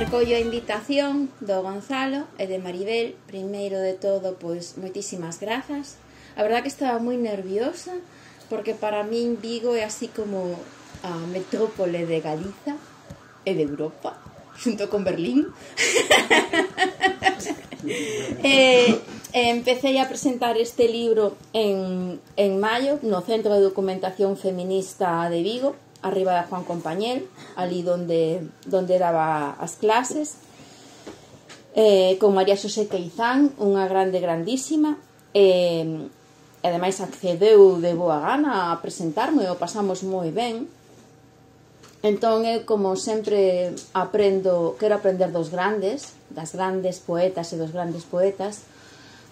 Recollo a invitación do Gonzalo e de Maribel. Primeiro de todo, pois, moitísimas grazas. A verdad que estaba moi nerviosa, porque para min Vigo é así como a metrópole de Galiza e de Europa, xunto con Berlín. Empecé a presentar este libro en maio no Centro de Documentación Feminista de Vigo, arriba da Juan Compañel, ali donde daba as clases, con María Xosé Queizán, unha grandísima, e ademais accedeu de boa gana a presentarme, o pasamos moi ben. Entón, como sempre quero aprender dos grandes, das grandes poetas e dos grandes poetas,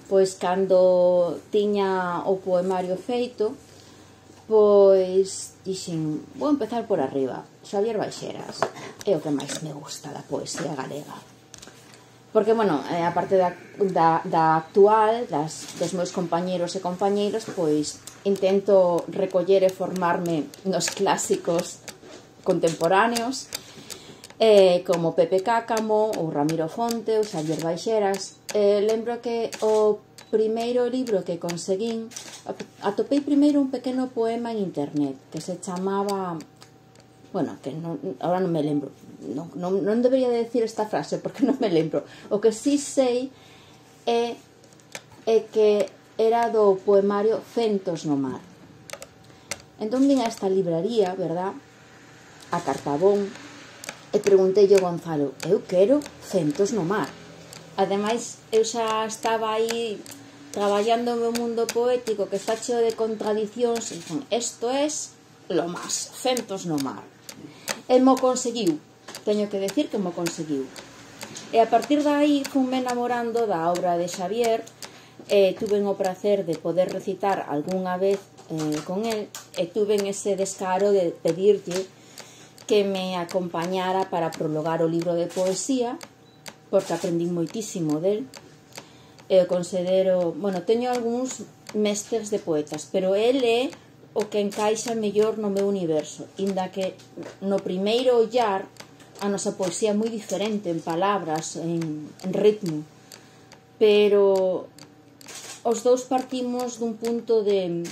pois cando tiña o poemario feito, pois dixen, vou empezar por arriba. Xavier Baixeras é o que máis me gusta da poesía galega, porque, bueno, a parte da actual, dos meus compañeros e compañeiras, pois intento recoller e formarme nos clásicos contemporáneos, como Pepe Cácamo, ou Ramiro Fonte, ou Xavier Baixeras. Lembro que o primeiro libro que conseguín, atopei primeiro un pequeno poema en internet que se chamaba, bueno, que ahora non me lembro, non debería de decir esta frase porque non me lembro. O que sí sei é que era do poemario Centos no mar. Entón vin a esta libraría, verdad, a Cartabón, e preguntei ao Gonzalo, eu quero Centos no mar. Ademais, eu xa estaba aí traballando no meu mundo poético, que está cheo de contradicións, e dixen, isto es lo más, Centos no mar. E mo conseguiu, teño que decir que mo conseguiu. E a partir de aí funme enamorando da obra de Xavier, e tuve o prazer de poder recitar algunha vez con el, e tuve ese descaro de pedirlle que me acompañara para prologar o libro de poesía, porque aprendí moitísimo del. Eu considero, bueno, teño algúns mestres de poetas, pero el é o que encaixa mellor no meu universo, inda que no primeiro ollar a nosa poesía é moi diferente en palabras, en ritmo, pero os dous partimos dun punto de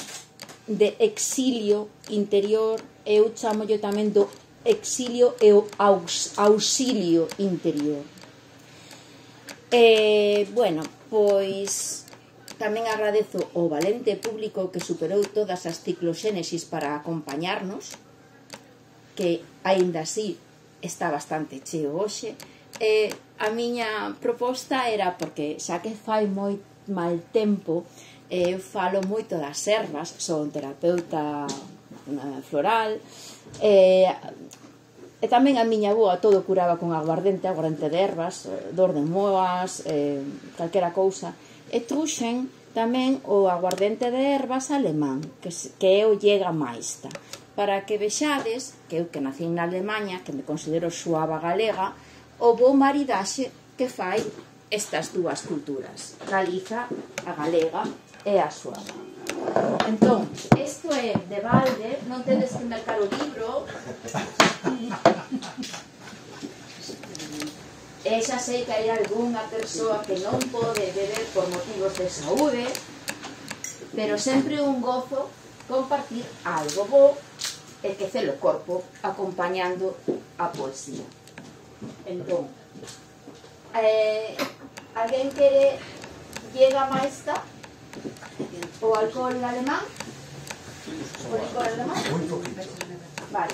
exilio interior. Eu chamolle tamén do exilio e o auxilio interior. Bueno, pois tamén agradezo o valente público que superou todas as cicloxénesis para acompañarnos, que aínda así está bastante cheo hoxe. A miña proposta era, porque xa que fai moi mal tempo, eu falo moito das ervas, son terapeuta floral, e tamén a miña avoa todo curaba con aguardente de ervas, dor de moas, calquera cousa. E truxen tamén o aguardente de ervas alemán, que é o Jägermeister, para que vexades que eu, que nací na Alemanha, que me considero suava galega, o bo maridaxe que fai estas dúas culturas, Galiza, a galega e a suava. Entón, isto é de balde, non tedes que mercar o libro. E xa sei que hai algunha persoa que non pode beber por motivos de saúde, pero sempre un gozo compartir algo bo e que celo o corpo acompañando a poesía. Entón, alguén quere Jägermeister? O alcohol alemán? O licor alemán? Vale.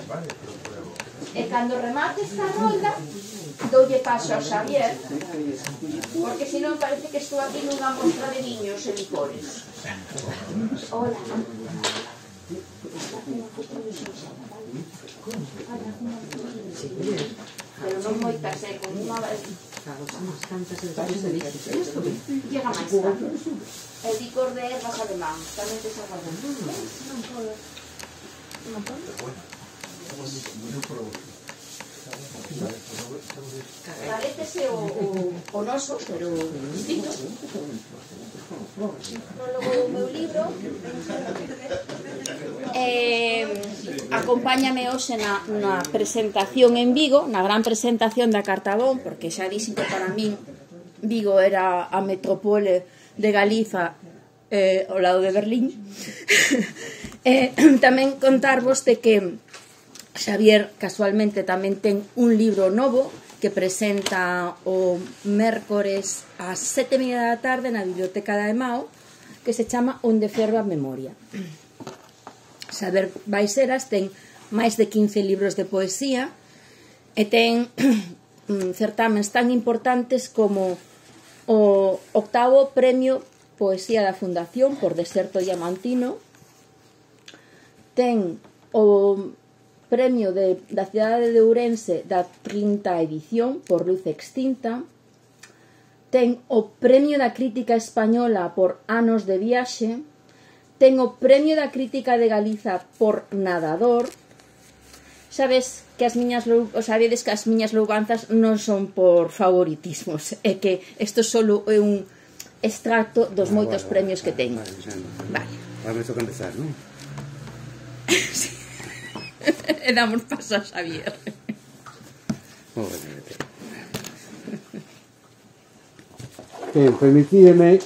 E cando remate esta rolda, doulle paso a Xavier, porque senón parece que estou aquí nunha mostra de viños e licores. Hola. Pero non moitas, con unha vez. Llega máis tarde. El licor de ervas alemán, tamén te saca ben. Non podo. Non podo? Parécese o noso, pero distinto. Prólogo do meu libro. Acompáñame hoxe na presentación en Vigo, na gran presentación da Cartabón, porque xa dixen que para min Vigo era a metrópole de Galiza ao lado de Berlín. Tamén contarvos de que Xavier casualmente tamén ten un libro novo que presenta o mércores ás 7:30 da tarde na Biblioteca da Emao, que se chama Onde ferva a memoria. Xavier Baixeras ten máis de 15 libros de poesía e ten certámenes tan importantes como o 8º Premio Poesía da Fundación por Deserto Diamantino, ten o Premio da cidade de Ourense da 30ª edición por Luz Extinta, ten o Premio da Crítica Española por Anos de Viaxe, ten o Premio da Crítica de Galiza por Nadador. Sabedes que as miñas louvanzas non son por favoritismos, é que isto solo é un extracto dos moitos premios que teño. Vale. Ahora me toca empezar, non? Sí. E damos paso a Xavier. Permitídeme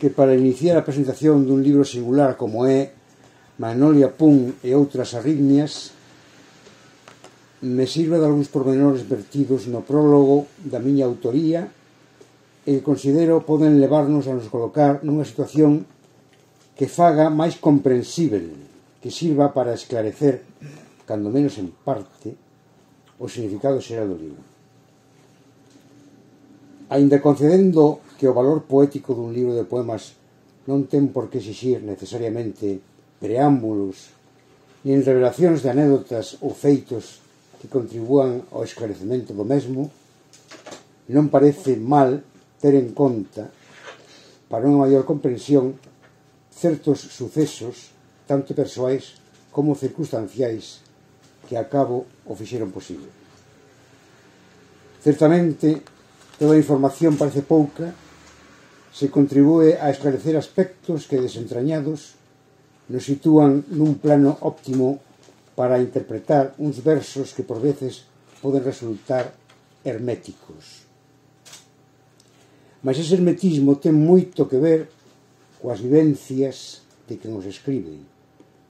que para iniciar a presentación dun libro singular como é Magnolia Punk e outras arritmias me sirva de algúns pormenores vertidos no prólogo da miña autoría e que considero poden levarnos a nos colocar nunha situación que faga máis comprensível, que sirva para esclarecer, cando menos en parte, o significado xeral do libro. Aínda concedendo que o valor poético dun libro de poemas non ten por que exixir necesariamente preámbulos nin revelacións de anécdotas ou feitos que contribúan ao esclarecemento do mesmo, non parece mal ter en conta, para unha maior comprensión, certos sucesos tanto persoais como circunstanciais que a cabo o fixeron posible. Certamente, toda a información parece pouca se contribúe a esclarecer aspectos que, desentrañados, nos sitúan nun plano óptimo para interpretar uns versos que por veces poden resultar herméticos. Mas ese hermetismo ten moito que ver coas vivencias de quen os escribe,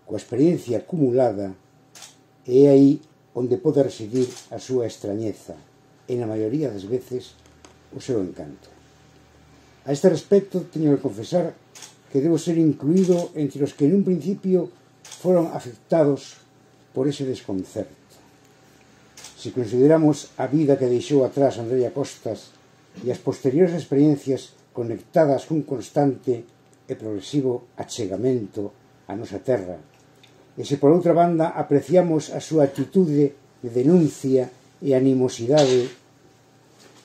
coa experiencia acumulada, e é aí onde pode residir a súa extrañeza e, na maioría das veces, o seu encanto. A este respecto, teño que confesar que debo ser incluído entre os que nun principio foron afectados por ese desconcerto. Se consideramos a vida que deixou atrás Andreia Costas e as posteriores experiencias conectadas cun constante e progresivo achegamento á nosa terra, e se por outra banda apreciamos a súa actitude de denuncia e animosidade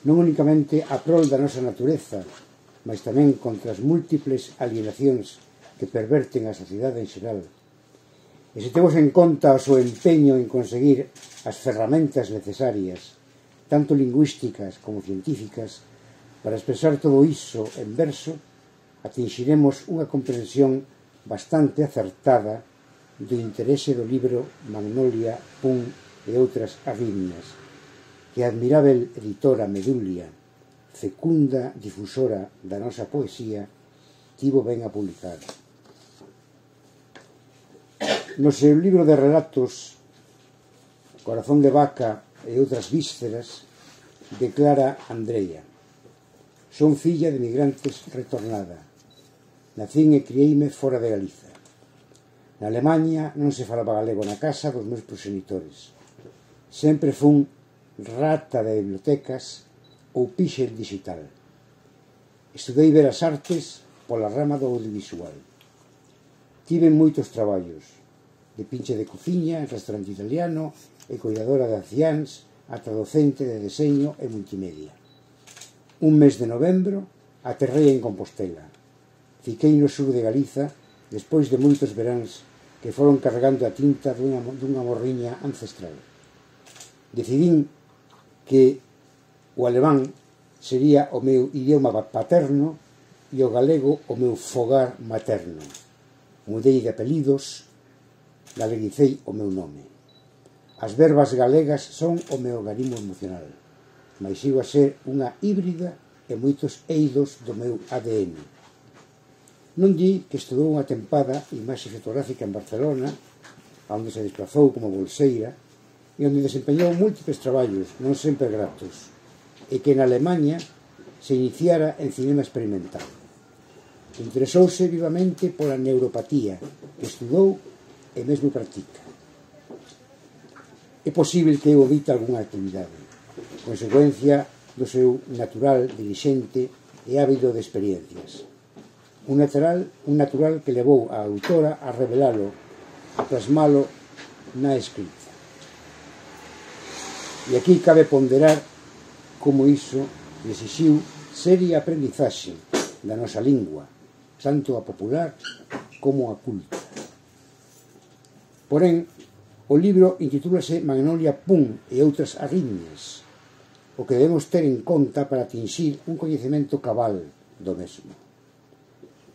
non únicamente a prol da nosa natureza, mas tamén contra as múltiples alienacións que perverten a sociedade en xeral. E se temos en conta o seu empeño en conseguir as ferramentas necesarias, tanto lingüísticas como científicas, para expresar todo iso en verso, atinxiremos unha comprensión bastante acertada do interese do libro Magnolia Punk e outras arritmias, que a admirável editora Medulia, fecunda difusora da nosa poesía, tivo ben a publicar. No seu libro de relatos Corazón de vaca e outras vísceras, declara Andreia: son filla de migrantes retornada. Nacín e crieime fora de Galiza. Na Alemanha non se falaba galego na casa dos meus progenitores. Sempre fun rata de bibliotecas ou píxel digital. Estudei Belas Artes pola rama do audiovisual. Tive moitos traballos, de pinche de cociña en restaurante italiano e coidadora de anciáns ata docente de deseño e multimedia. Un mes de novembro aterrei en Compostela. Fiquei no sur de Galiza despois de moitos veráns que foron cargando a tinta dunha morriña ancestral. decidín que o alemán sería o meu idioma paterno e o galego o meu fogar materno. Mudei de apelidos, galeguicei o meu nome. As verbas galegas son o meu garimo emocional, mais sigo a ser unha híbrida e moitos eidos do meu ADN. Non di que estudou unha tempada imaxe fotográfica en Barcelona, onde se desplazou como bolseira, e onde desempeñou múltiples traballos, non sempre gratos, e que en Alemanha se iniciara en cinema experimental. Interesouse vivamente pola neuropatía, que estudou e mesmo practica. É posible que eu evite algunha actividade, consecuencia do seu natural, dirixente e ávido de experiencias. Un natural que levou a autora a revelalo, a plasmalo na escrita. E aquí cabe ponderar como iso exixiu seria aprendizaxe da nosa lingua, tanto a popular como a culta. Porén, o libro intitúlase Magnolia Pum e outras arritmias, o que debemos ter en conta para atinxir un coñecemento cabal do mesmo.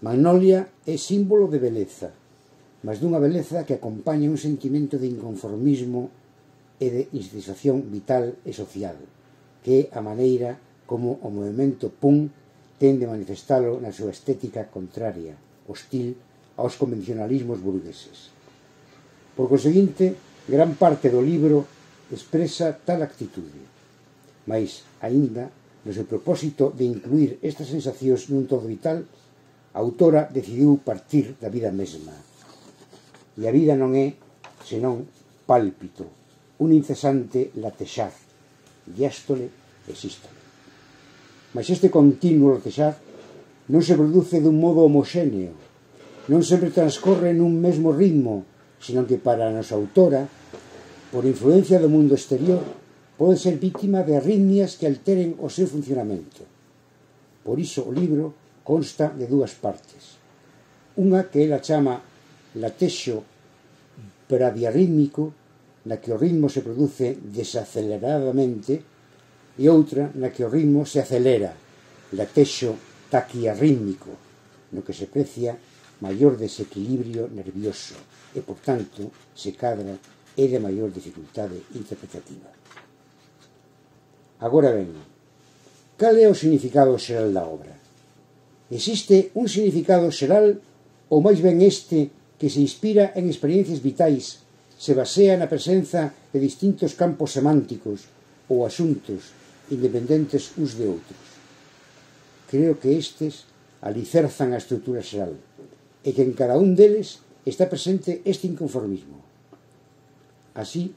Magnolia é símbolo de beleza, mas dunha beleza que acompaña un sentimento de inconformismo e de insatisfacción vital e social, que é a maneira como o movemento punk tende a manifestalo na súa estética contraria, hostil aos convencionalismos burgueses. Por conseguinte, gran parte do libro expresa tal actitude, mas, aínda, no seu propósito de incluir estas sensacións nun todo vital, a autora decidiu partir da vida mesma. E a vida non é, senón, pálpito, un incesante latexar, diástole e sístole. Mas este continuo latexar non se produce dun modo homogéneo, non sempre transcorre nun mesmo ritmo, senón que para a nosa autora, por influencia do mundo exterior, pode ser vítima de arritmias que alteren o seu funcionamento. Por iso o libro consta de dúas partes. Unha que ela chama latexo bradiarrítmico, na que o ritmo se produce desaceleradamente, e outra na que o ritmo se acelera, latexo taquiarrítmico, no que se precia maior desequilibrio nervioso e, por tanto, se cadra é de maior dificultade interpretativa. Agora ben, cal é o significado xeral da obra? Existe un significado xeral ou máis ben este que se inspira en experiencias vitais, se basea na presenza de distintos campos semánticos ou asuntos independentes uns de outros? Creo que estes alicerzan a estrutura xeral e que en cada un deles está presente este inconformismo. Así,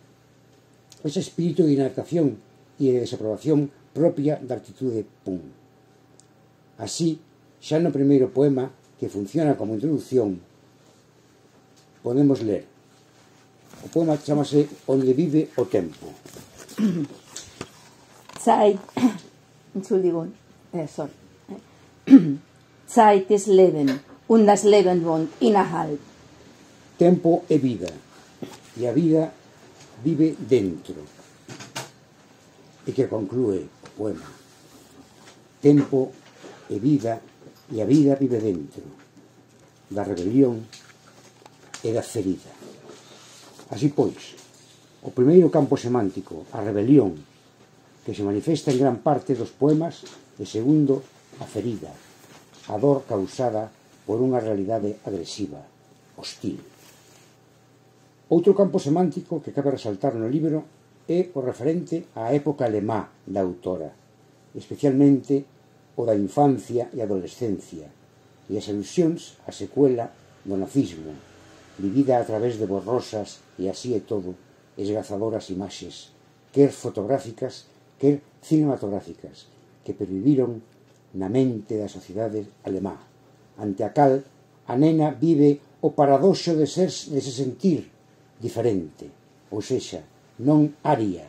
ese espírito de inadaptación e de desaprobación propia da actitude punk. Así, xa no primeiro poema, que funciona como introducción, podemos ler. O poema chamase Onde vive o tempo. Zeit, Entschuldigung, sorry. Zeit ist Leben und das Leben wohnt innerhalb. Tempo é vida e a vida vive dentro. E que conclúe o poema. Tempo é vida e a vida vive dentro da rebelión e da ferida. Así pois, o primeiro campo semántico, a rebelión, que se manifesta en gran parte dos poemas, e segundo, a ferida, a dor causada por unha realidade agresiva, hostil. Outro campo semántico que cabe resaltar no libro é o referente á época alemá da autora, especialmente o da infancia e adolescencia, e as alusións á secuela do nazismo, vivida a través de borrosas e así é todo, esgazadoras imaxes, quer fotográficas, quer cinematográficas, que perviviron na mente da sociedade alemá, ante a cal a nena vive o paradoxo de se sentir diferente, ou sexa, non aria,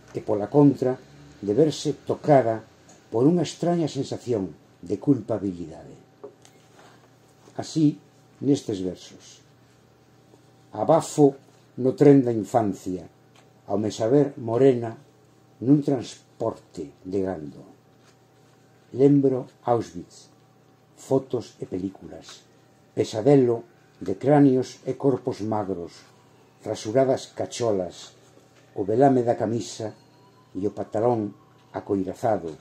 e pola contra, de verse tocada por unha extraña sensación de culpabilidade. Así, nestes versos: abafo no tren da infancia, ao me saber morena nun transporte de gando. Lembro Auschwitz, fotos e películas, pesadelo de cráneos e corpos magros, rasuradas cacholas, o velame da camisa e o pantalón acoirazado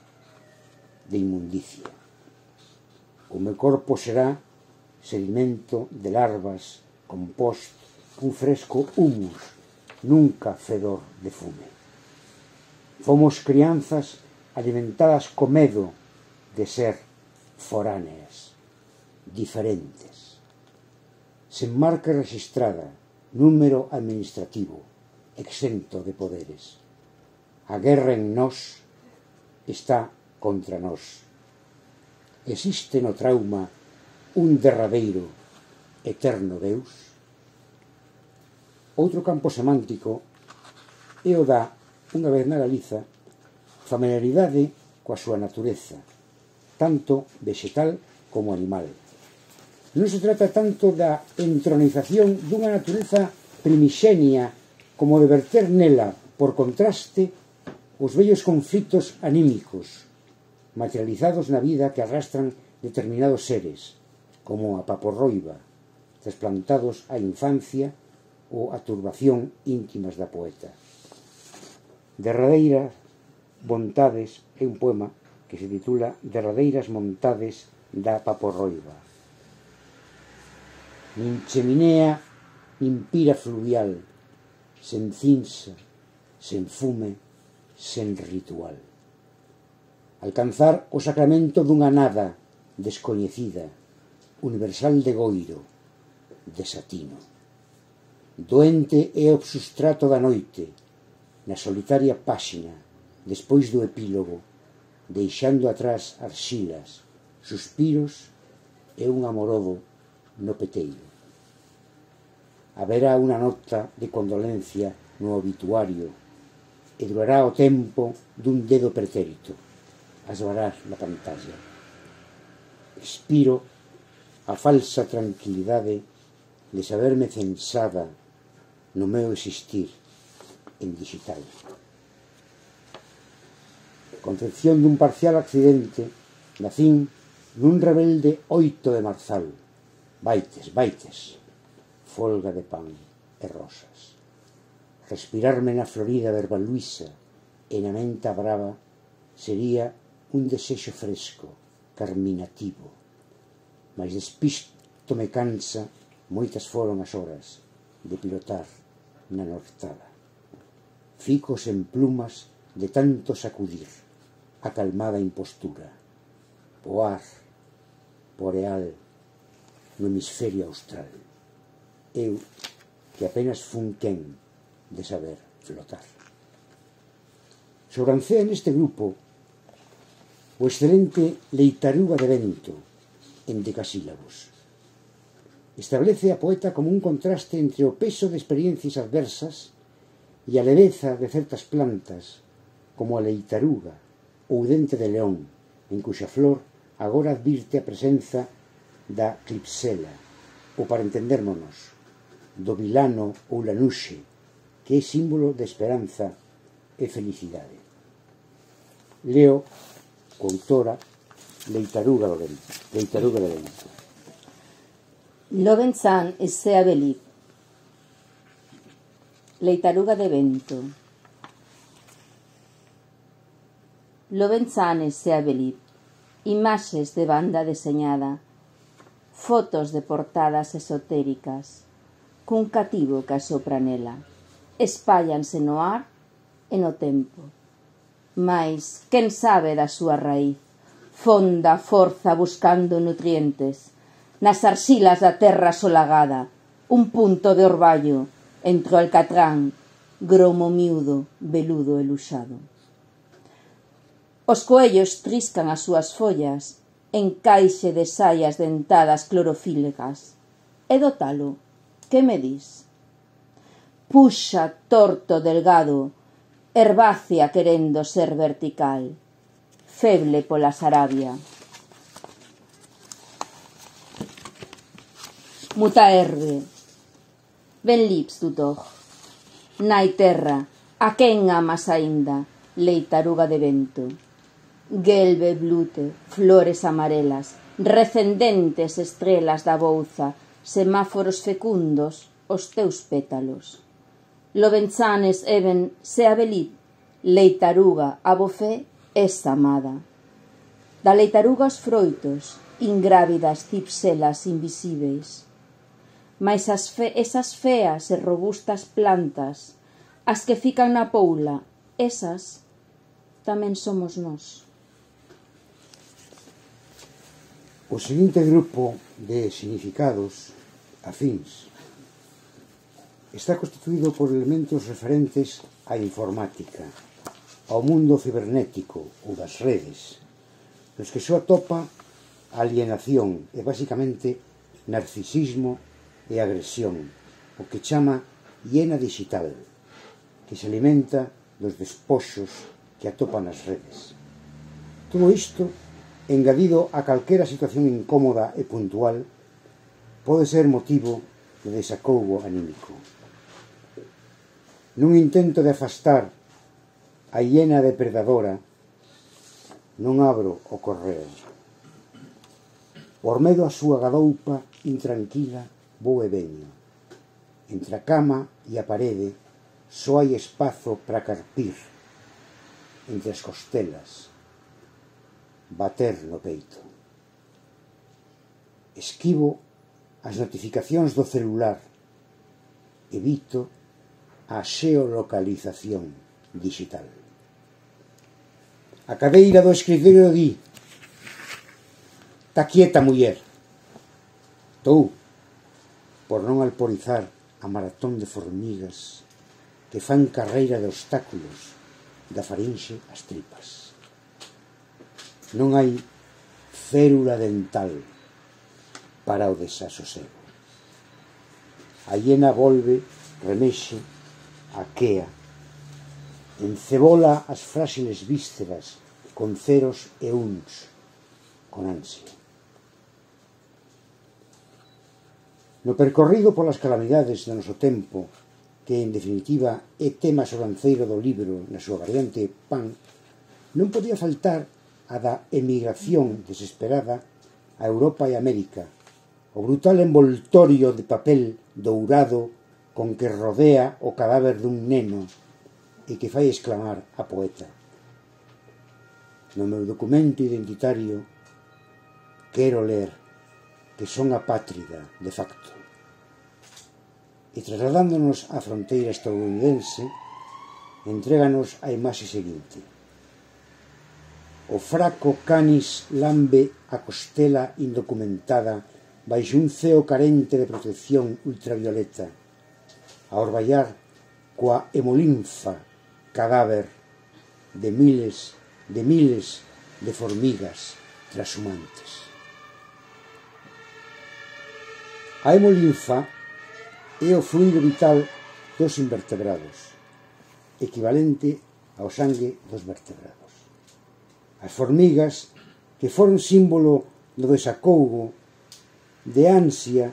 de inmundicia. O meu corpo será sedimento de larvas, compost, un fresco humus, nunca fedor de fume. Fomos crianzas alimentadas co medo de ser foráneas, diferentes. Sen marca registrada, número administrativo, exento de poderes. A guerra en nós está contra nós. Existe no trauma un derradeiro, eterno Deus? Outro campo semántico é o da, unha vez na Galiza, familiaridade coa súa natureza, tanto vegetal como animal. Non se trata tanto da entronización dunha natureza primixenia como de verter nela, por contraste, os vellos conflitos anímicos, materializados na vida que arrastran determinados seres, como a paporroiba, trasplantados á infancia ou a turbación íntimas da poeta. Derradeiras vontades é un poema que se titula Derradeiras montades da paporroiba. Nin cheminea, nin pira fluvial, sen cinza, sen fume, sen ritual. Alcanzar o sacramento dunha nada descoñecida, universal de goiro, desatino. Doente é o substrato da noite, na solitaria páxina, despois do epílogo, deixando atrás arxilas, suspiros e un amorodo no peteiro. Haberá unha nota de condolencia no obituario e durará o tempo dun dedo pretérito, asvarar na pantalla. Expiro a falsa tranquilidade de saberme censada no meu existir en digital. Concepción dun parcial accidente, nacín nun rebelde 8 de marzal, baites, folga de pan e rosas. Respirarme na florida verba luisa e na menta brava sería un desexo fresco, carminativo. Mais despisto me cansa, moitas foron as horas de pilotar na nortada. Fico sen plumas de tanto sacudir a calmada impostura. Voar, boreal, no hemisferio austral. Eu, que apenas fun quen de saber flotar. Sobrancea neste grupo o excelente Leitaruga de Vento, en decasílabos. Establece a poeta como un contraste entre o peso de experiencias adversas e a leveza de certas plantas, como a leitaruga ou dente de león, en cuxa flor agora advirte a presenza da clipsela, ou para entendermonos, do vilano ou lanuxe, que é símbolo de esperanza e felicidade. Leo, coautora, Leitaruga de Vento. Loven-san e Sea Beliv. Leitaruga de Vento. Loven-san e Sea Beliv. Imaxes de banda deseñada. Fotos de portadas esotéricas. Cun cativo que asopra nela. Espállanse no ar e no tempo. Mais, quen sabe da súa raíz? Fonda forza buscando nutrientes. Nas arxilas da terra solagada, un punto de orballo entre o alcatrán, gromo miúdo, veludo e luxado. Os coellos triscan as súas follas en caixe de saias dentadas clorofílicas. E do talo, que me dis? Puxa torto delgado, herbácea querendo ser vertical, feble pola sarabia. Muta erbe, ben lips du doch. Nai terra, A quen amas aínda, leitaruga de vento? Gelbe blute, flores amarelas, recendentes estrelas da bouza, semáforos fecundos, os teus pétalos. Lovenchanes eben se abelit, leitaruga a bofé es amada. Da leitaruga os froitos, ingrávidas cipselas invisíveis. Mais esas feas e robustas plantas, as que fican na poula, esas tamén somos nós. O seguinte grupo de significados afíns está constituído por elementos referentes á informática, ao mundo cibernético ou das redes, nos que só atopa alienación e, basicamente, narcisismo e agresión, o que chama hiena digital, que se alimenta dos despoxos que atopa nas redes. Todo isto, engadido a calquera situación incómoda e puntual, pode ser motivo de desacougo anímico. Nun intento de afastar a hiena depredadora, non abro o correo. Por medo a súa gadoupa intranquila vou e veño. Entre a cama e a parede só hai espazo para carpir. Entre as costelas, bater no peito. Esquivo as notificacións do celular. Evito a xeolocalización digital. A cadeira do escritorio di: "Tá quieta, muller". Tou, por non alporizar a maratón de formigas que fan carreira de obstáculos da farinxe ás tripas. Non hai férula dental para o desasosego. A hiena volve, remexe, aquea, encebola as fráxiles vísceras con ceros e uns, con ansia. No percorrido polas calamidades do noso tempo, que en definitiva é tema sobranceiro do libro na súa variante pan, non podía faltar a da emigración desesperada a Europa e América, o brutal envoltorio de papel dourado con que rodea o cadáver dun neno e que fai exclamar a poeta: "No meu documento identitario quero ler que son apátrida de facto". E trasladándonos á fronteira estadounidense, entréganos a imaxe seguinte: o fraco canis lambe a costela indocumentada baixo un ceo carente de protección ultravioleta, a orballar coa hemolinfa cadáver de miles de formigas trashumantes. A hemolinfa é o fluido vital dos invertebrados, equivalente ao sangue dos vertebrados. As formigas, que foron símbolo do desacougo, de ansia,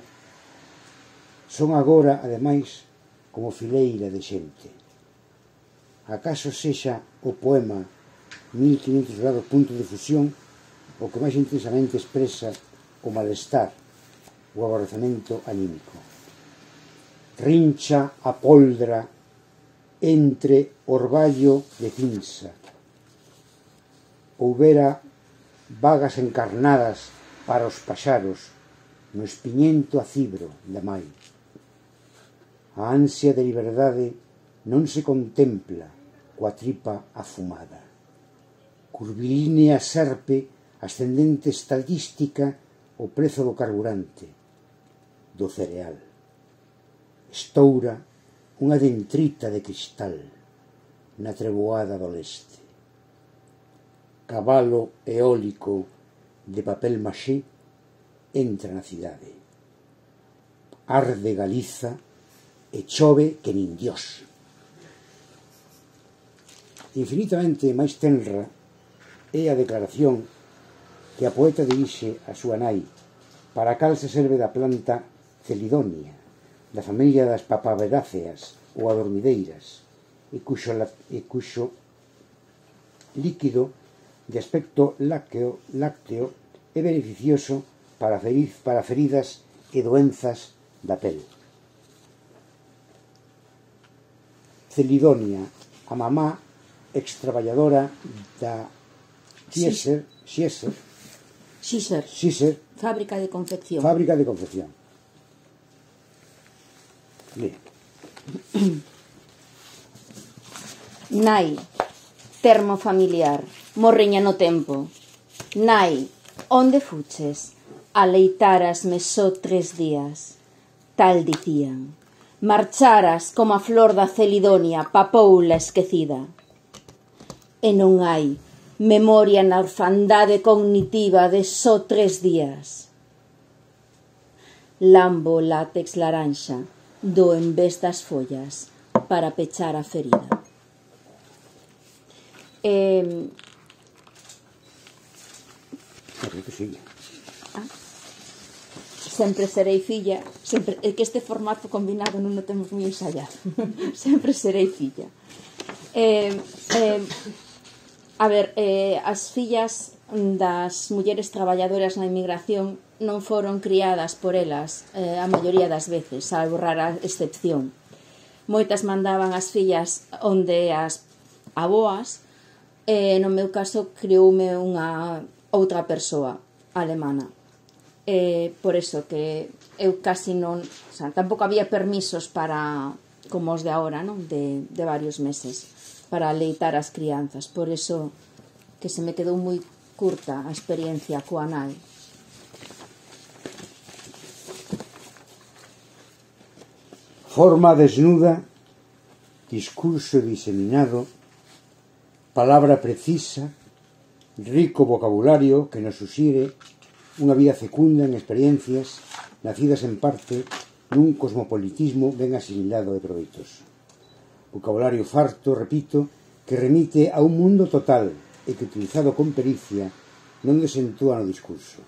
son agora, ademais, como fileira de xente. Acaso sexa o poema 1500 grados punto de fusión o que máis intensamente expresa o malestar, o aborrecemento anímico. Rincha a poldra entre orballo de cinza. Houbera vagas encarnadas para os paxaros no espiñento acibro da mai. A ansia de liberdade non se contempla coa tripa afumada. Curvilínea serpe ascendente estadística o prezo do carburante, do cereal. Estoura unha dentrita de cristal na treboada do leste. Cabalo eólico de papel maxé entra na cidade. Arde Galiza e chove que nin Dios. Infinitamente máis tenra é a declaración que a poeta dirixe a súa nai, para a cal se serve da planta Celidonia, da familia das papaveráceas ou adormideiras, e cuxo líquido de aspecto lácteo é beneficioso para feridas e doenzas da pel. Celidonia, a mamá extraballadora da Xéser, fábrica de confección. Bien. Nai, termo familiar, morriña no tempo. Nai, onde fuches? Aleitarasme só 3 días. Tal dicían. Marcharas como a flor da Celidonia, papoula esquecida. E non hai memoria na orfandade cognitiva de só 3 días. Lambo látex laranxa, do en vez das follas, para pechar a ferida. Sempre serei filla, sempre, é que este formato combinado non o temos moi ensayado. Sempre serei filla. A ver, as fillas das mulleres traballadoras na inmigración non foron criadas por elas a maioría das veces, salvo rara excepción. Moitas mandaban as fillas onde as aboas, no meu caso crioume unha outra persoa alemana. Por eso que eu casi non, o sea, tampouco había permisos para, como os de agora, non? De varios meses para aleitar as crianzas, por eso que se me quedou moi curta a experiencia coa nai. Forma desnuda, discurso diseminado, palabra precisa, rico vocabulario que nos suxire unha vida fecunda en experiencias nacidas en parte nun cosmopolitismo ben asimilado e proveitos. Vocabulario farto, repito, que remite a un mundo total e que, utilizado con pericia, non desentúa no discurso.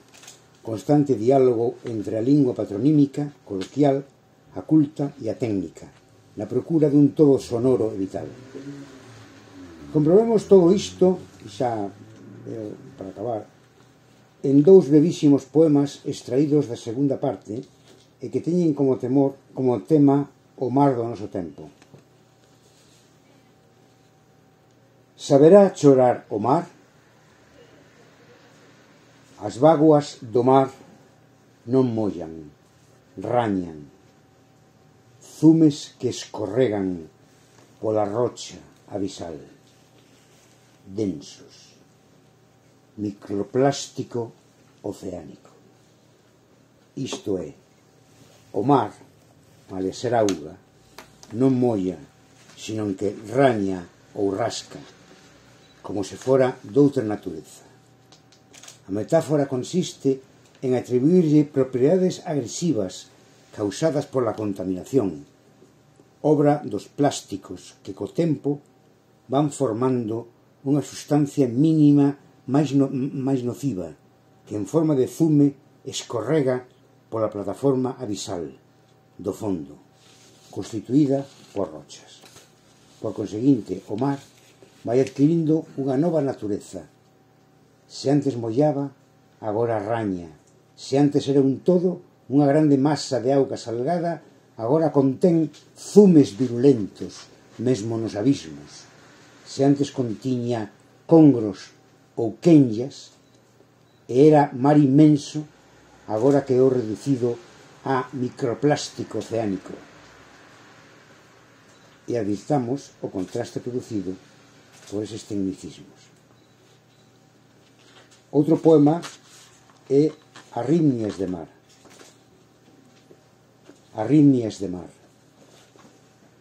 Constante diálogo entre a lingua patronímica, coloquial, a culta e a técnica, na procura dun todo sonoro e vital. Comprobemos todo isto, xa para acabar, en 2 brevísimos poemas extraídos da segunda parte e que teñen como tema o mar do noso tempo. Saberá chorar o mar? As vaguas do mar non mollan, rañan, zumes que escorregan pola rocha abisal, densos, microplástico oceánico. Isto é, o mar, male ser auga, non molla, senón que raña ou rasca, como se fora doutra natureza. A metáfora consiste en atribuirlle propiedades agresivas causadas pola contaminación, obra dos plásticos que co tempo van formando unha sustancia mínima máis nociva que en forma de zume escorrega pola plataforma abisal do fondo, constituída por rochas. Por conseguinte, o mar vai adquirindo unha nova natureza. Se antes mollaba, agora raña. Se antes era un todo, unha grande masa de auga salgada, agora contén zumes virulentos, mesmo nos abismos. Se antes contiña congros ou quenllas, e era mar inmenso, agora quedou reducido a microplástico oceánico. E advirtamos o contraste producido por eses tecnicismos. Outro poema é Arritmias de mar. Arritmias de mar.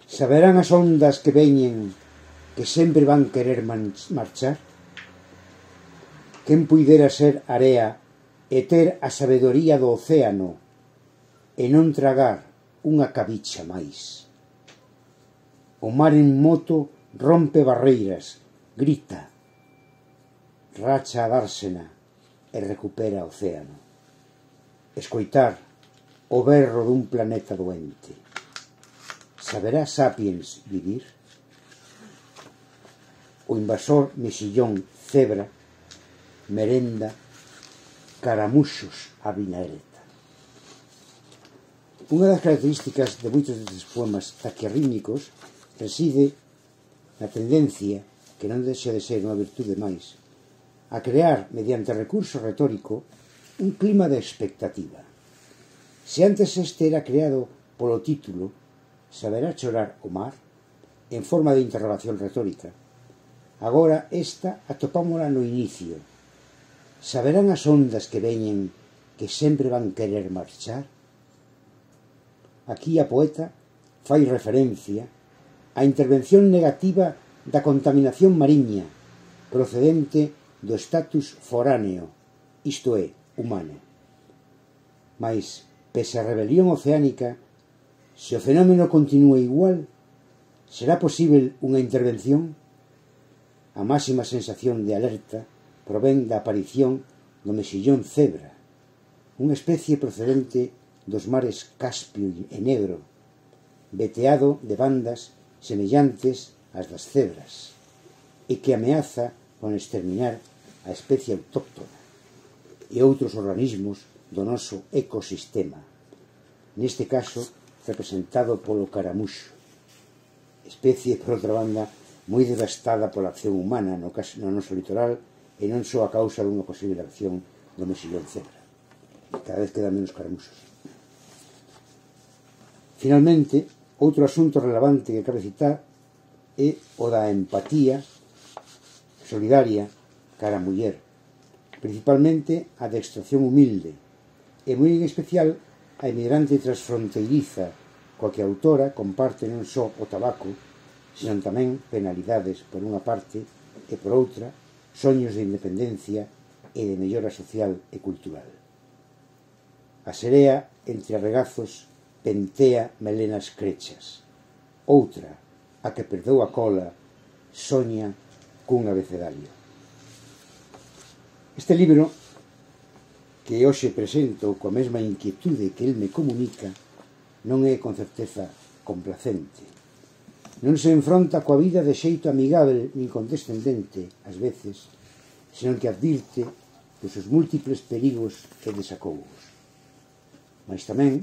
Saberán as ondas que veñen que sempre van querer marchar? Quen puidera ser area e ter a sabedoría do océano e non tragar unha cabicha máis? O mar en moto rompe barreiras, grita, racha a dársena e recupera o océano. Escoitar o berro dun planeta doente. Saberá Sapiens vivir? o invasor mexillón cebra merenda caramuxos a vinagreta. Unha das características de moitos destes poemas taquiarrímnicos reside na tendencia, que non deixa de ser unha virtude máis, a crear, mediante recurso retórico, un clima de expectativa. Se antes este era creado polo título Saberá chorar o mar, en forma de interrogación retórica, agora esta atopámola no inicio. Saberán as ondas que veñen que sempre van querer marchar? Aquí a poeta fai referencia á intervención negativa da contaminación mariña procedente do status foráneo, isto é, humano. Mais, pese a rebelión oceánica, se o fenómeno continúa igual, será posible unha intervención? A máxima sensación de alerta provén da aparición do mexillón cebra, unha especie procedente dos mares Caspio e Negro, veteado de bandas semellantes ás das cebras, e que ameaza con exterminar a especie autóctona e outros organismos do noso ecosistema, neste caso representado polo caramuxo, especie, por outra banda, moi devastada pola acción humana no noso litoral e non só a causa dunha posible acción do mexillón cebra. Cada vez quedan menos caramuxos. Finalmente, outro asunto relevante que cabe citar é o da empatía solidaria cara a muller, principalmente a de extracción humilde, e moi en especial a emigrante transfronteiriza coa que a autora comparte non só o tabaco, senón tamén penalidades por unha parte e por outra soños de independencia e de mellora social e cultural. A serea entre arregazos pentea melenas crechas. Outra, a que perdeu a cola, soña cun abecedario. Este libro, que hoxe presento coa mesma inquietude que el me comunica, non é con certeza complacente. Non se enfronta coa vida de xeito amigável nin condescendente, ás veces, senón que advirte dos seus múltiples perigos e desacougos. Mas tamén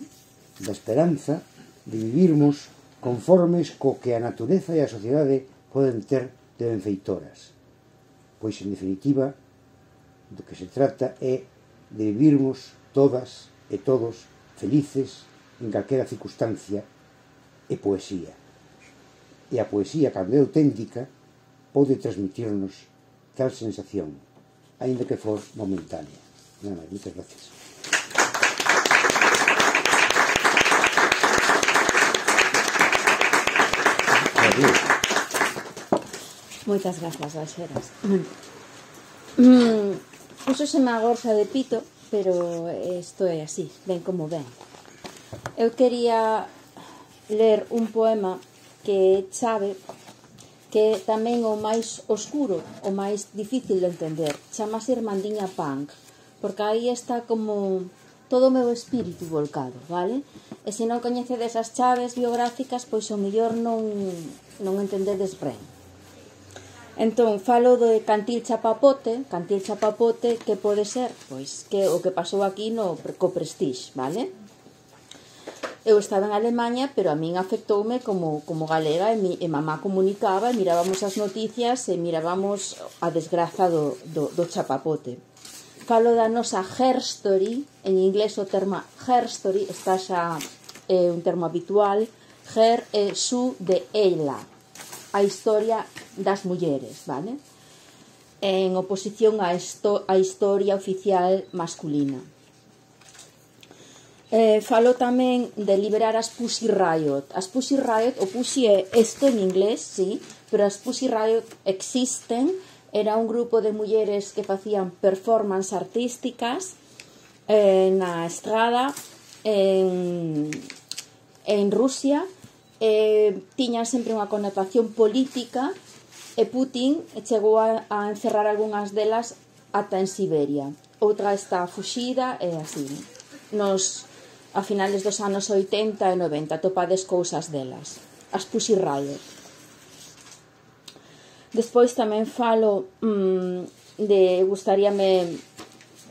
da esperanza de vivirmos conformes co que a natureza e a sociedade poden ter de benfeitoras, pois, en definitiva, do que se trata é de vivirmos todas e todos felices en calquera circunstancia e poesía. E a poesía, cando é auténtica, pode transmitirnos tal sensación, aínda que for momentánea. Nada máis, moitas gracias. Moitas grazas, Balxeras. Púxoseme a gorxa de pito, pero isto é así, ben como ben. Eu quería ler un poema que é chave, que é tamén o máis oscuro, o máis difícil de entender. Chamase Irmandiña Punk, porque aí está como todo o meu espírito volcado, vale? E se non coñecedes as chaves biográficas, pois o mellor non entendedes ben. Entón, falo de Cantil Chapapote, que pode ser, pois, que o que pasou aquí no co Prestige, vale? Eu estaba en Alemanha, pero a min afectoume como galega, e mamá comunicaba, e mirábamos as noticias, e mirábamos a desgraza do Chapapote. Falo da nosa herstory, en inglés o termo herstory está xa un termo habitual, her e su de ela, a historia das mulleres, vale? En oposición á historia oficial masculina. Falo tamén de liberar as Pussy Riot. As Pussy Riot, o Pussy é isto en inglés, sí, pero as Pussy Riot existen. Era un grupo de mulleres que facían performance artísticas na estrada en Rusia. Tiñan sempre unha connotación política, e Putin chegou a encerrar algunhas delas ata en Siberia. Outra está fuxida e así. A finales dos anos 80 e 90 topades cousas delas. As Pussy Riot. Despois tamén falo de gustaríame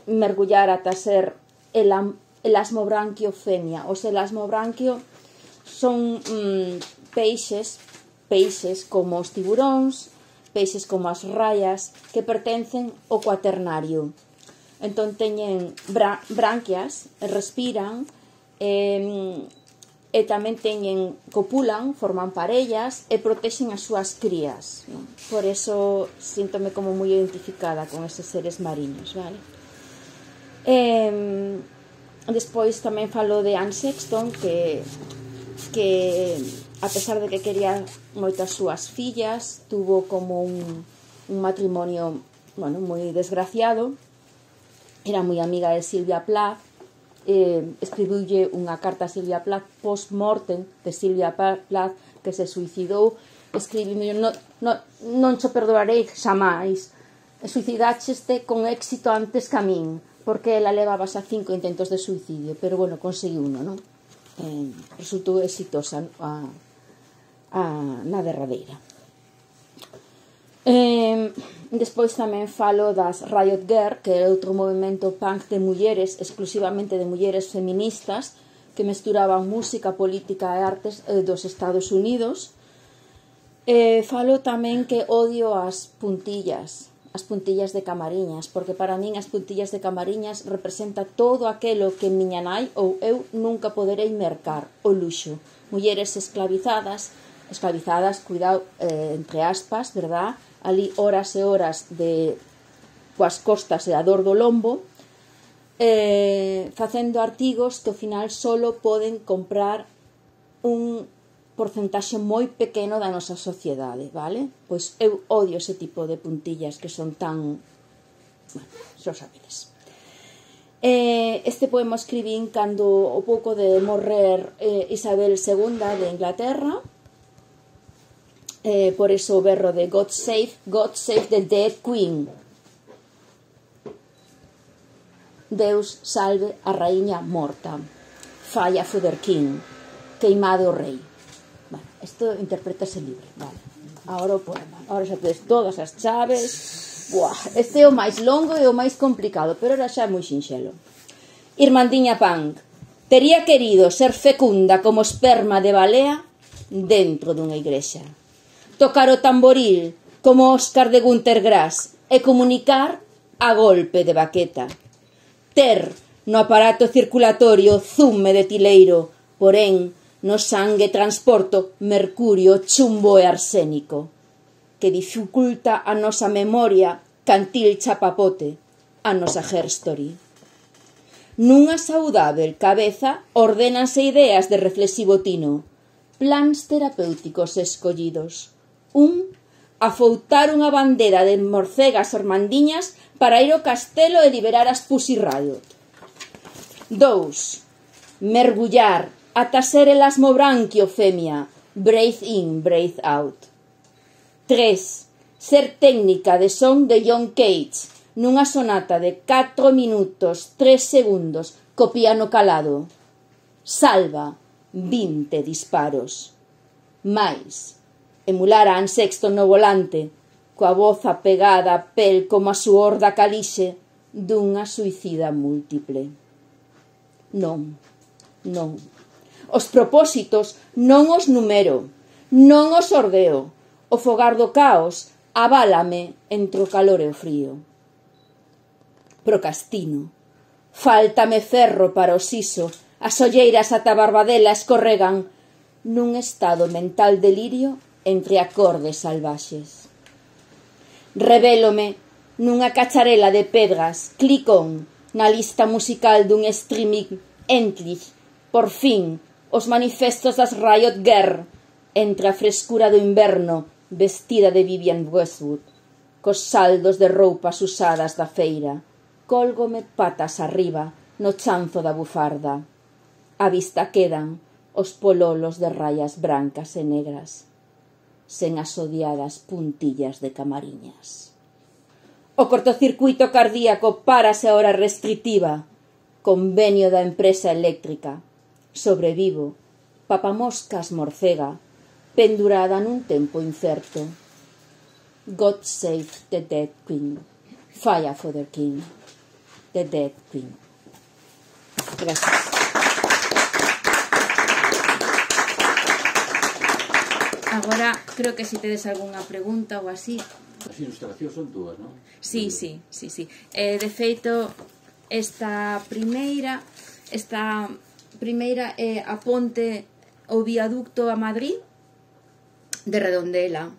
mergullar ata ser elasmobranquio femia. Os elasmobranquio son peixes como os tiburóns, peixes como as raias, que pertencen ao cuaternario. Entón teñen branquias, respiran, e tamén teñen, copulan, forman parellas e protexen as súas crías, non? Por eso síntome como moi identificada con eses seres mariños, vale? Despois tamén falo de Anne Sexton, que a pesar de que quería moito as súas fillas, tuvo como un matrimonio, bueno, moi desgraciado. Era moi amiga de Sylvia Plath. Escribiulle unha carta a Sylvia Plath post-mortem de Sylvia Plath, que se suicidou, escribindo: non cho perdoarei xamais, suicidácheste con éxito antes que a min, porque ela levaba xa 5 intentos de suicidio, pero bueno, conseguiu uno, non? Resultou exitosa na derradeira. Despois tamén falo das Riot Girl, que é outro movimento punk de mulleres, exclusivamente de mulleres feministas, que mesturaban música, política e artes dos Estados Unidos. Falo tamén que odio as puntillas de Camariñas, porque para min as puntillas de Camariñas representa todo aquelo que miña nai ou eu nunca poderei mercar, o luxo. Mulleres esclavizadas, cuidado, entre aspas, verdad? Ali horas e horas coas costas e a dor do lombo, facendo artigos que ao final solo poden comprar un porcentaxe moi pequeno da nosa sociedade, vale? Pois eu odio ese tipo de puntillas que son tan... bueno, xa sabedes. Este poema escribín cando o pouco de morrer Isabel II de Inglaterra. Por eso o berro de God save the dead queen. Deus salve a raíña morta. Falla for the king. Queimado o rei. Bueno, isto interprétase libre, vale. Ahora o poema. Ahora xa tedes todas as chaves. Buah, este é o máis longo e o máis complicado, pero era xa moi sinxelo. Irmandiña Punk. Tería querido ser fecunda como esperma de balea dentro dunha igrexa. Tocar o tamboril como Óscar de Gunter Grass e comunicar a golpe de baqueta. Ter no aparato circulatorio zume de tileiro, porén no sangue transporto mercurio, chumbo e arsénico, que dificulta a nosa memoria cantil chapapote, a nosa herstory. Nunha saudável cabeza ordénanse ideas de reflexivo tino, plans terapéuticos escollidos. Afoutar unha bandera de morcegas ormandiñas para ir ao castelo e liberar as Pussy Riot. 2. Mergullar ata ser elasmobranquio femia, breathe in, breathe out. 3. Ser técnica de son de John Cage nunha sonata de 4 minutos 3 segundos co piano calado. Salva 20 disparos. Mais emular a Anne Sexton no volante, coa voz apegada a pel como a suor da calixe dunha suicida múltiple. Non. Os propósitos non os numero, non os ordeo. O fogar do caos aválame entre o calor e o frío. Procrastino. Fáltame ferro para o siso, as olleiras ata a barbadela escorregan nun estado mental delirio entre acordes salvaxes. Revélome nunha cacharela de pedras, clicón, na lista musical dun streaming endlich, por fin, os manifestos das Riot Girl, entre a frescura do inverno, vestida de Vivienne Westwood, cos saldos de roupas usadas da feira, cólgome patas arriba no chanzo da bufarda. A vista quedan os pololos de rayas brancas e negras, sen as odiadas puntillas de Camariñas. O cortocircuito cardíaco párase a hora restritiva, convenio da empresa eléctrica. Sobrevivo, papamoscas morcega, pendurada nun tempo incerto. God Save the Dead Queen. Fire for the King. The Dead Queen. Gracias. Agora, creo que se tedes algunha pregunta ou así. As ilustracións son túas, non? Sí. De feito, esta primeira é a ponte o viaducto a Madrid de Redondela.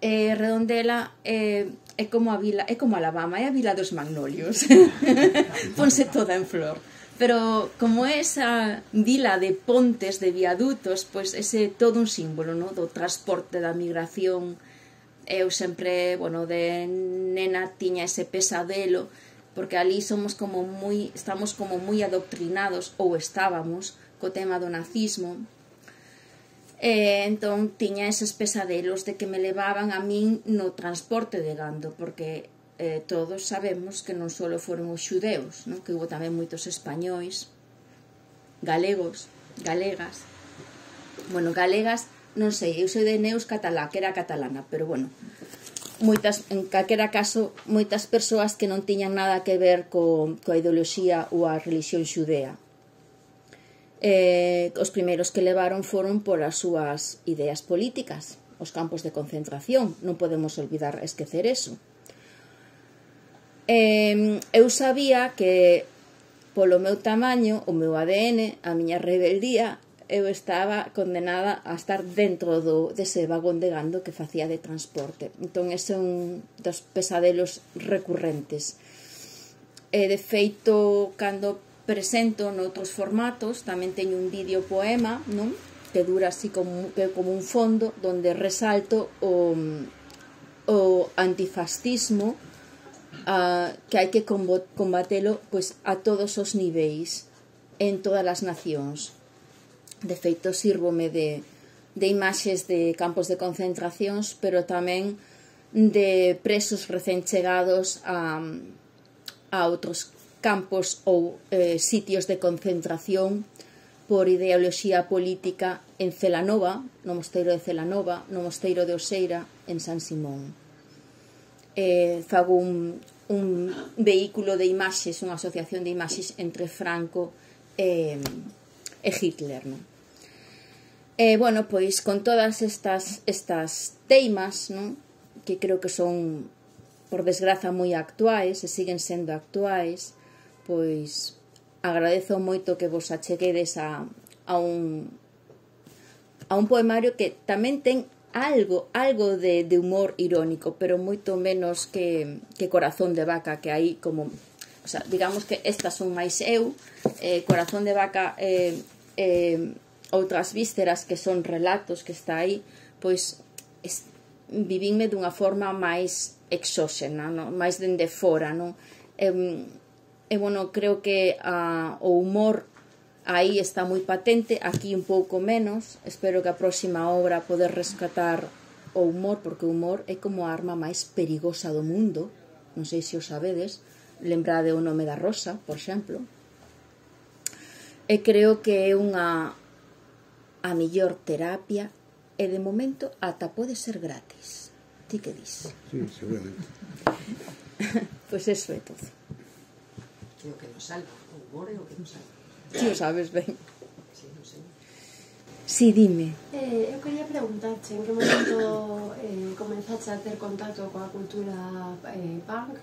Redondela é como a vila, é como Alabama, é a vila dos magnolios. Ponse toda en flor. Pero como é esa vila de pontes, de viadutos, pois ese todo un símbolo, no? Do transporte, da migración. Eu sempre, bueno, de nena tiña ese pesadelo, porque ali estamos como moi adoctrinados, ou estábamos, co tema do nazismo. Entón tiña eses pesadelos de que me levaban a min no transporte de gando, porque todos sabemos que non só foron os xudeus, non? Que hubo tamén moitos españois, galegos, galegas. Bueno, galegas, non sei, eu sou de Neus catalá, que era catalana, pero bueno, en calquera caso, moitas persoas que non tiñan nada que ver coa ideoloxía ou a religión xudea. Os primeiros que levaron foron polas súas ideas políticas, os campos de concentración, non podemos olvidar, esquecer eso. Eu sabía que polo meu tamaño, o meu ADN, a miña rebeldía, eu estaba condenada a estar dentro dese vagón de gando que facía de transporte. Entón ese é un dos pesadelos recurrentes. De feito, cando presento noutros formatos, tamén teño un vídeo poema, non? Que dura así como un fondo, donde resalto o antifascismo, que hai que combatelo pois a todos os niveis, en todas as nacións. De feito, sírvome de imaxes de campos de concentracións, pero tamén de presos recén chegados a outros campos ou sitios de concentración por ideoloxía política en Celanova, no mosteiro de Celanova, no mosteiro de Oseira, en San Simón. Fago un vehículo de imaxes, unha asociación de imaxes entre Franco e Hitler, non? Bueno, pois con todas estas teimas, non? Que creo que son, por desgraza, moi actuais e siguen sendo actuais, pois agradezo moito que vos acheguedes a un poemario que tamén ten algo de humor irónico, pero moito menos que Corazón de Vaca, que aí como, o sea, digamos que estas son máis eu, Corazón de Vaca, outras vísceras que son relatos que está aí, pois vivinme dunha forma máis exóxena, non? Máis dende fora, non? Bueno, creo que o humor aí está moi patente, aquí un pouco menos. Espero que a próxima obra poder rescatar o humor, porque o humor é como a arma máis perigosa do mundo. Non sei se o sabedes, lembrade o Nome da Rosa, por exemplo. E creo que é a mellor terapia, e de momento ata pode ser gratis. Ti que dis? Sí, seguramente. Pois eso é todo. Que o que nos salva, o humor é o que nos salva. Ti o sabes ben. Sí, non sei. Si, dime. Eu quería preguntarche en que momento comenzaste a ter contacto coa cultura punk,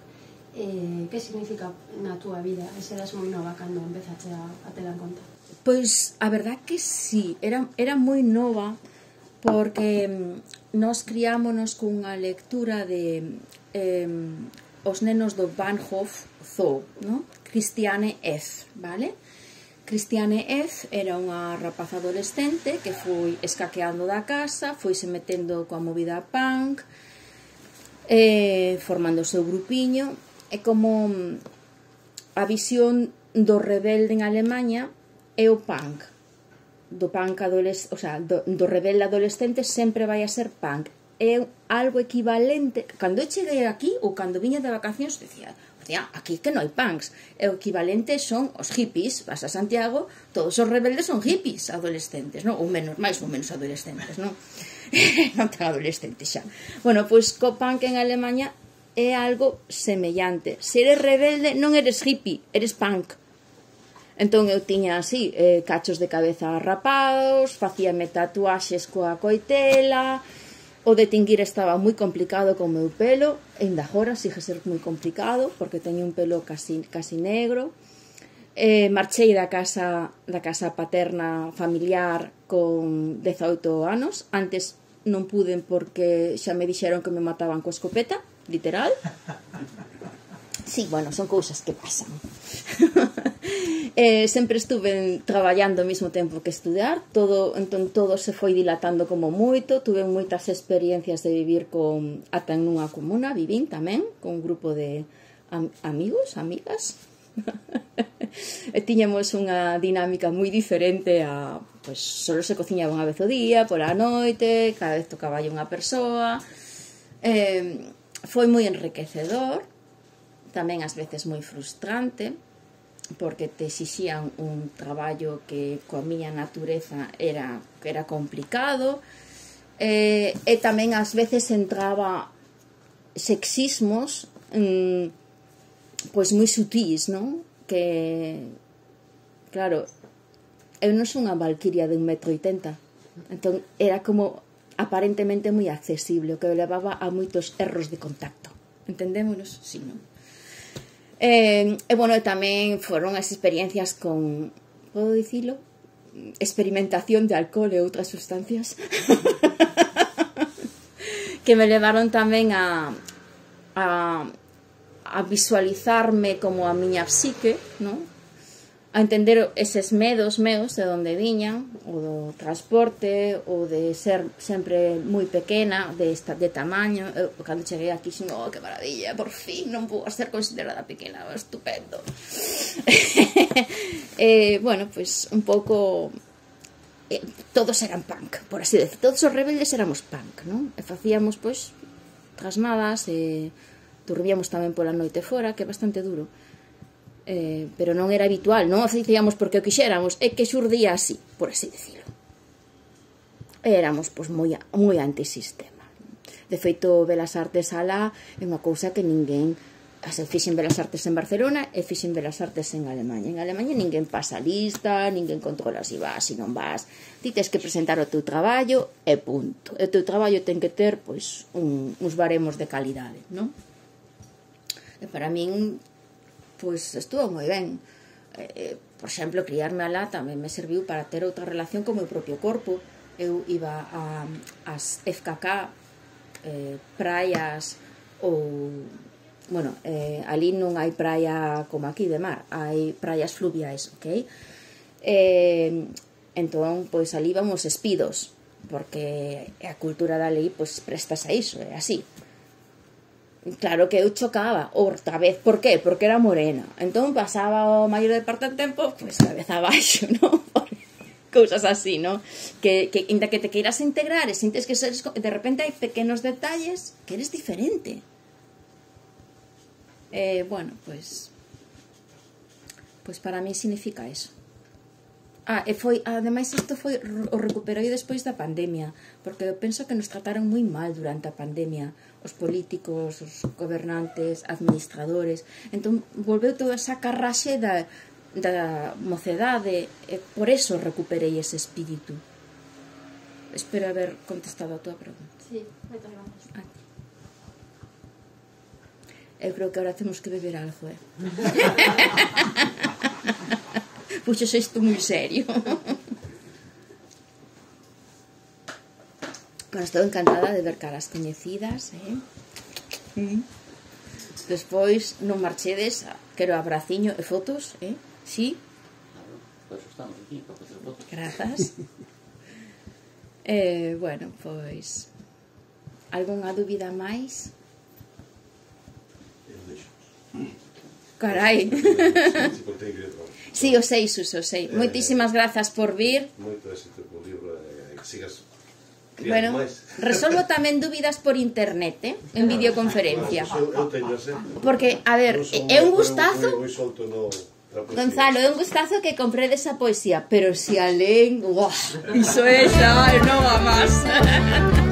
que significa na túa vida? E serás moi nova cando empezaste a tela en conta? Pois a verdad que sí, era moi nova, porque nós criámonos cunha lectura de os nenos do Bahnhof Zoo, ¿no? Christiane F., vale? Christiane F. era unha rapaza adolescente que foi escaqueando da casa, foise metendo coa movida punk, formando o seu grupiño, e como a visión do rebelde en Alemanha é o punk. Do rebelde adolescente sempre vai a ser punk. É algo equivalente. Cando eu cheguei aquí, ou cando viña de vacacións, decía, aquí que non hai punks. O equivalente son os hippies. Vas a Santiago, todos os rebeldes son hippies adolescentes, non? Ou menos, máis ou menos adolescentes, non? non ten adolescente xa. Bueno, pois co punk en Alemanha é algo semellante. Se eres rebelde non eres hippie, eres punk. Entón eu tiña así cachos de cabeza rapados, facíame tatuaxes coa coitela, o de tinguir estaba moi complicado con o meu pelo, e ainda agora sigue ser moi complicado porque teño un pelo casi negro. Marchei da casa paterna familiar con 18 anos. Antes non puden porque xa me dixeron que me mataban coa escopeta, literal. Sí, bueno, son cousas que pasan. Sempre estuve traballando ao mesmo tempo que estudar, entón todo se foi dilatando como moito. Tuve moitas experiencias de vivir ata en unha comuna, vivín tamén con un grupo de amigos, amigas. E tiñamos unha dinámica moi diferente a, pois, solo se cociñaba unha vez o día, pola noite, cada vez tocaba unha persoa. Foi moi enriquecedor, tamén ás veces moi frustrante, porque te exixían un traballo que coa miña natureza era complicado, e tamén ás veces entraba sexismos pois moi sutís, non? Que, claro, eu non son unha valquiria de 1,80 m, entón era como aparentemente moi accesible, o que levaba a moitos erros de contacto. Entendémonos? Sí, non? Bueno, tamén foron as experiencias con, podo dicilo, experimentación de alcohol e outras sustancias que me levaron tamén a visualizarme como a miña psique, non? A entender eses medos meus de onde viñan, o do transporte, o de ser sempre moi pequena, de tamaño. Eu, cando cheguei aquí, oh, que maravilla, por fin non vou ser considerada pequena, estupendo. Bueno, pues un pouco todos eran punk, por así decir, todos os rebeldes éramos punk, non? E facíamos, pois, trasnadas, dormíamos tamén pola noite fora, que é bastante duro. Pero non era habitual, non o facíamos porque o quixéramos, é que xurdía así, por así decirlo. Éramos pois moi antisistema. De feito, Belas Artes alá é unha cousa que ninguén, fixen Belas Artes en Barcelona e fixen Belas Artes en Alemanha. En Alemanha ninguén pasa lista, ninguén controla se vas, se non vas. Ti tes que presentar o teu traballo e punto. O teu traballo ten que ter pois uns baremos de calidade, non? E para min pois estuvo moi ben. Por exemplo, criarme alá tamén me serviu para ter outra relación co meu propio corpo. Eu iba ás FKK, praias ou, bueno, ali non hai praia como aquí de mar, hai praias fluviais, ok? Entón, pois ali vamos espidos, porque a cultura da lei pois prestas a iso, é así. Claro que eu chocaba outra vez, por qué? Porque era morena. Entón pasaba o maior parte do tempo pois cabeza abaixo, non? Cousas así, non? Que inda que te queiras integrar e sintes que de repente hai pequenos detalles que eres diferente. Bueno, pois para mí significa eso. E foi, ademais isto foi, o recuperei despois da pandemia, porque eu penso que nos trataron moi mal durante a pandemia, os políticos, os gobernantes, administradores. Entón volveu toda esa carraxe da mocedade, e por eso recuperei ese espírito. Espero haber contestado a tua pregunta. Sí, moitas gracias. Eu creo que ahora temos que beber algo, Puxos isto moi serio. Bueno, estou encantada de ver caras coñecidas, Despois non marchedes, quero abraciño e fotos, Sí? Claro, por eso estamos aquí, para facer fotos. Grazas. Bueno, pois algunha dúbida máis? Eu deixo. Carai. Sí, o sei, Suso, o sei. Moitísimas grazas por vir. Moito éxito co libro e que sigas bueno, resolvo tamén dúbidas por internet, en videoconferencia. Eu teño sempre. Porque, a ver, é un gustazo. Moi solto no Gonzalo, é un gustazo que compredes a poesía, pero se a leen, iso é xa, non a más.